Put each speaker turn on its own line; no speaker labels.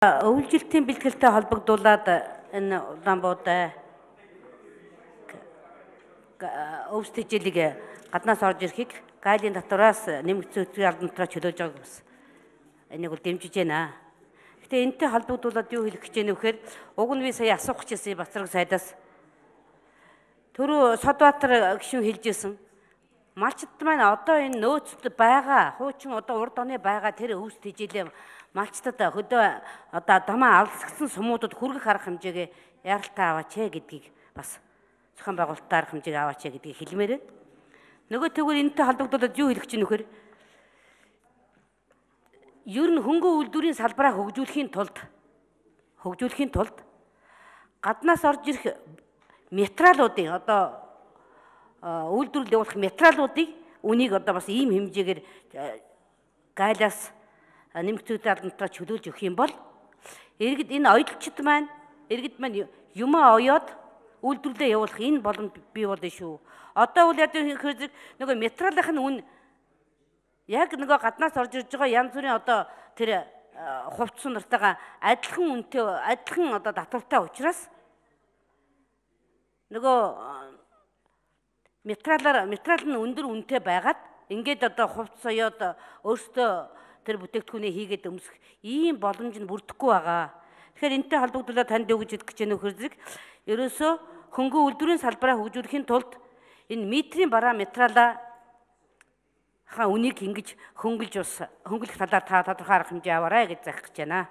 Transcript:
Өвлжилтийн бэлтгэлтэй холбогдуулаад энэ Улаанбуудаа өвс тэжээлийг гаднаас орж ирэхийг гайлын татвараас нэмэгдсэн өсвөрийн албантраа чөлөөж байгааг бас энийг бол дэмжиж байна. Гэтэ энэтэй холбогдуулаад юу хэлэх гэж байна вэ гэхээр уг нь би сая асуух гэжсэн Бацраг сайдаас түрүү Содбаатар гишүүн хэлжсэн малчд маань одоо энэ нөөцөд байгаа хуучин одоо урд оны байгаа тэр өвс тэжээлээ малчдад хөдөө одоо дамаа алсгсан сумуудад хүргэх арга хэмжээгээ яралтай аваач гэдгийг бас зохион байгуулалтын арга хэмжээг аваач гэдгийг хэлмээр байна. Нөгөө тэгвэл энэтэй холбогдуулаад юу хэлэх гэж байна вэхээр ер нь хөнгөн үйлдвэрийн салбараа хөгжүүлэхийн тулд гаднаас орж ирэх материалуудын одоо үйлдвэрлэл явуулах материалуудыг үнийг одоо бас ийм хэмжээгээр гайлаас нэмэгдсэн албантраа чөлөөлж өгөх юм бол иргэд энэ оёлчид маань юмаа оёод үйлдвэрлэлээ явуулах энэ боломж бий болно шүү. Одоо үл яг нөгөө материалын үн яг нөгөө гаднаас орж ирж байгаа янз бүрийн одоо тэр хувцас нартайгаа адилхан үнэтэй адилхан одоо татвартай учраас нөгөө материал нь өндөр үнэтэй байгаад ингээд одоо хувцас оёод өөртөө тэр бүтээгдэхүүнээ хийгээд өмсөх ийм боломж нь бүрдэхгүй байгаа. Тэгэхээр энэтэй холбогдуулаад танд юу гэж хэлэх гэж байна вэ хэрэг ерөөсөө хөнгөн үйлдвэрийн салбараа хөгжүүлэхийн тулд энэ метрийн бараа материалаа үнийг ингэж хөнгөлөх талаар та тодорхой арга хэмжээ аваарай гэж заах гэж байна.